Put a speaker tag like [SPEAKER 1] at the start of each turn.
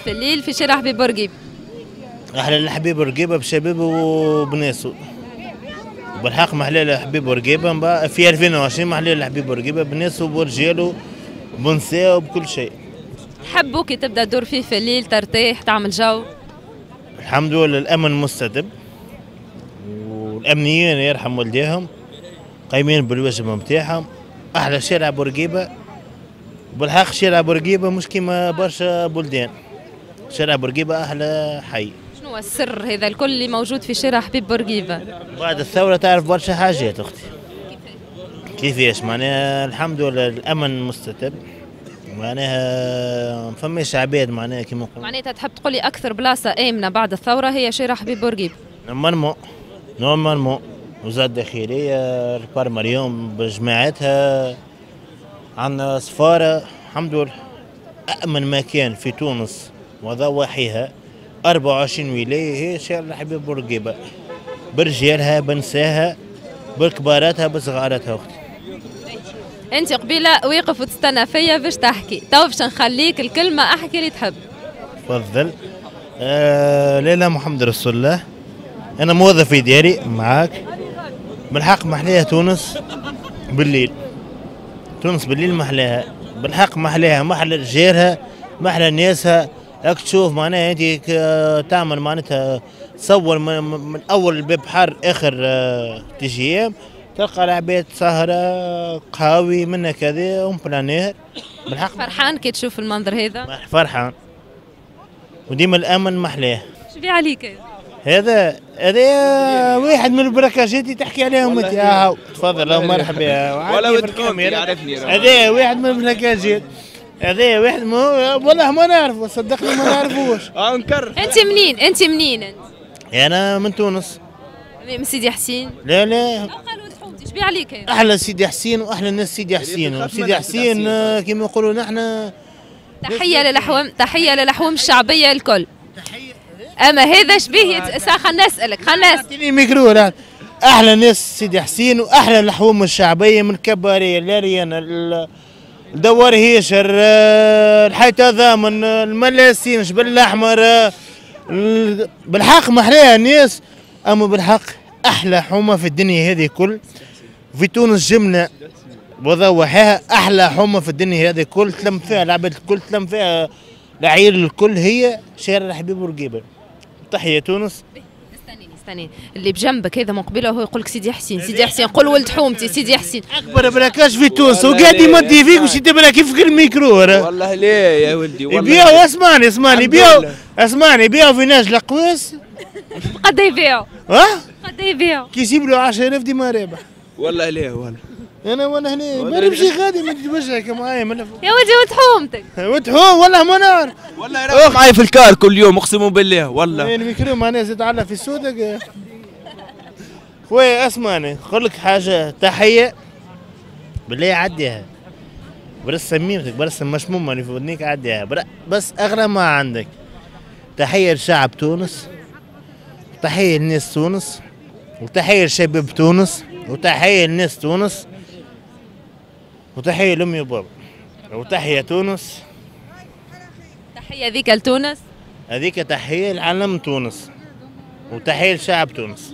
[SPEAKER 1] في الليل في شارع حبيب بورقيبة؟
[SPEAKER 2] احلى الحبيب بورقيبة بشبابه وبناسه. بالحق محلال حبيب بورقيبة في 2020، محلال حبيب بورقيبة بناسه وبرجاله وبنساه وبكل شيء.
[SPEAKER 1] تحبوا كي تبدا تدور فيه في الليل ترتاح تعمل جو؟
[SPEAKER 2] الحمد لله الامن مستتب والامنيين يرحم والديهم قايمين بالواجب نتاعهم. احلى شارع بورقيبة بالحق، شارع بورقيبة مش كيما برشا بلدان، شارع بورقيبة احلى حي.
[SPEAKER 1] شنو السر هذا الكل اللي موجود في شارع حبيب بورقيبة؟
[SPEAKER 2] بعد الثورة تعرف برشا حاجات اختي. كيفاش؟ معناها الحمد لله الامن مستتب، معناها ما فماش عباد، معناها كيما نقولوا.
[SPEAKER 1] معناتها تحب تقول لي اكثر بلاصة امنه بعد الثورة هي شارع حبيب بورقيبة؟
[SPEAKER 2] normalement وزارة الداخلية البارماريوم بجماعتها، عندنا سفارة، الحمد لله أأمن مكان في تونس وضواحيها 24 ولاية هي شارع حبيب بورقيبة، برجالها بنساها بكباراتها بصغاراتها. أختي
[SPEAKER 1] أنت قبيلة واقف وتستنى فيا باش تحكي، تو باش نخليك الكلمة، أحكي اللي تحب.
[SPEAKER 2] تفضل. لا محمد رسول الله، أنا موظف إداري معاك. بالحق محليها تونس بالليل، تونس بالليل محلاها بالحق، محلاها محلى رجالها محلى ناسها. راك تشوف معناها انت تعمل معناتها تصور من اول الباب بحر اخر TGM تلقى العباد سهره قهاوي منا كذا en plein air. بالحق
[SPEAKER 1] فرحان كي تشوف المنظر هذا؟
[SPEAKER 2] فرحان، وديما الامن محلاه.
[SPEAKER 1] شو بيه عليك
[SPEAKER 2] هذا؟ هذا واحد من البراكاجات اللي تحكي عليهم انت. تفضل مرحبا.
[SPEAKER 3] ولا ودكم يعرفني.
[SPEAKER 2] هذا واحد من البراكاجات، هذا واحد والله ما نعرفه، صدقني ما نعرفوش.
[SPEAKER 3] نكرر.
[SPEAKER 1] انت منين؟ انت منين انت؟
[SPEAKER 2] انا من تونس.
[SPEAKER 1] من سيدي حسين؟
[SPEAKER 2] لا لا.
[SPEAKER 1] قالوا حومتي، اش بيه عليك هذا؟
[SPEAKER 2] احلى سيدي حسين واحلى ناس سيدي حسين، سيدي حسين كيما نقولوا نحن.
[SPEAKER 1] تحية للحوم، تحية للحوم الشعبية الكل. اما هذا شبيه خلينا نسالك، خلينا
[SPEAKER 2] نعطيني ميكرو. احلى ناس سيدي حسين واحلى الحوم الشعبية من كباريه لاريانا الدوار هيشر الحي تضامن الملاسين جبل الاحمر. بالحق محلاها الناس، اما بالحق احلى حومه في الدنيا هذه كل في تونس جملة وضوحاها، احلى حومه في الدنيا هذه كل، تلم فيها العباد الكل، تلم فيها العيل الكل، هي شارع حبيب بورقيبة. تحية تونس.
[SPEAKER 1] استنيني استنيني، اللي بجنبك هذا من قبيلة هو يقول لك سيدي حسين، سيدي حسين، قول ولد حومتي سيدي حسين.
[SPEAKER 2] اكبر braquage في تونس وقاعد يمدي فيك باش تبراكي في الميكرو.
[SPEAKER 3] والله ليه يا ولدي؟ والله
[SPEAKER 2] يبيعوا، اسمعني اسمعني، يبيعوا، اسمعني، يبيعوا في ناج القواس.
[SPEAKER 1] قد يبيعوا؟
[SPEAKER 2] ها؟
[SPEAKER 1] قد يبيعوا؟
[SPEAKER 2] كي يجيب له 10000 ديما رابح.
[SPEAKER 3] والله ليه والله.
[SPEAKER 2] انا وانا هنا ما نمشي غادي ما وجهك معايا.
[SPEAKER 1] يا ولدي ولد حومتك.
[SPEAKER 2] ولد حوم والله ما نعرف.
[SPEAKER 3] والله راح معايا في الكار كل يوم اقسم بالله والله.
[SPEAKER 2] الميكرو معناها زاد على في سودك. خويا اسمعني نقول لك حاجة، تحية بالله عديها، برس سميمتك برس المشمومه اللي في ودنيك عديها، بس اغلى ما عندك. تحية لشعب تونس، تحية لناس تونس، وتحية لشباب تونس، وتحية لناس تونس، وتحية لأمي وبابا، وتحية تونس.
[SPEAKER 1] تحية ذيك لتونس؟
[SPEAKER 2] هذيك تحية لعالم تونس، وتحية لشعب تونس.